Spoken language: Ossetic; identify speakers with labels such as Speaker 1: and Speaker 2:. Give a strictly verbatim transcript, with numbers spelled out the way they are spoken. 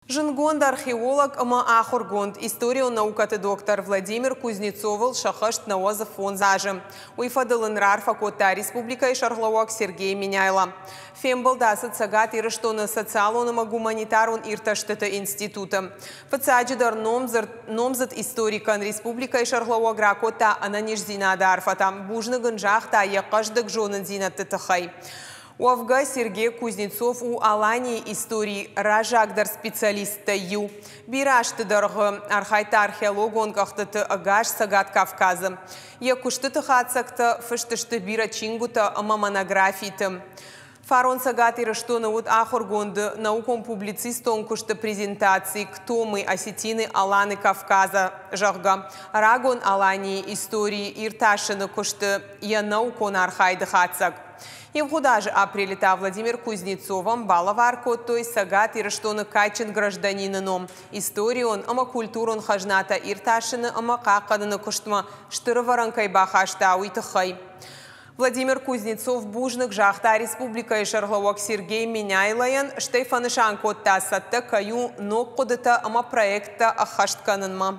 Speaker 1: Зындгонд археолог ӕмӕ ахуыргонд, историон наукӕты доктор Владимир Кузнецовыл сӕххӕст нӕуӕдз фондз азы. Уый фӕдыл ын раарфӕ кодта республикӕйы сӕргълӕууӕг Сергей Меняйло. Фембӕлд ацыд Цӕгат Ирыстоны социалон ӕмӕ гуманитарон иртӕстыты институты. Фыццаджыдӕр номдзыд историкӕн республикӕйы сӕргълӕууӕг ракодта ӕнӕниздзинады арфӕтӕ. Бузныг ын загъта йӕ хъӕздыг зонындзинӕдты тыххӕй. Уӕвгӕ Сергей Кузнецов у Аланийы историйы раззагдӕр специалисттӕй иу. Бирӕ азты дӕргъы архайдта археологон къӕхтыты ӕгас Цӕгат Кавказы. Йӕ куыстыты хатдзӕгтӕ фыст сты бирӕ чингуытӕ ӕмӕ монографиты. Фарон Цӕгат Ирыстоны уыд ахуыргонды наукон-публицистон куысты презентаци «Кто мы, осетины, Аланы Кавказа», зӕгъгӕ, рагон Аланийы историйы иртасыны куысты йӕ наукон архайды хатдзӕг. Ивгъуыд азы апрелы та Владимир Кузнецовӕн балӕвар кодтой Цӕгат Ирыстоны кадджын гражданины ном историон ӕмӕ культурон хӕзнатӕ иртасыны ӕмӕ хъахъхъӕныны куыстмӕ стыр ӕвӕрӕн кӕй бахаста, уый тыххӕй. Владимир Кузнецов бузныг загъта республикӕйы сӕргълӕууӕг Сергей Меняйлойӕн, стӕй фӕнысан кодта, цӕттӕ кӕй у ног хъуыдытӕ ӕмӕ проекттӕ ӕххӕст кӕнынмӕ.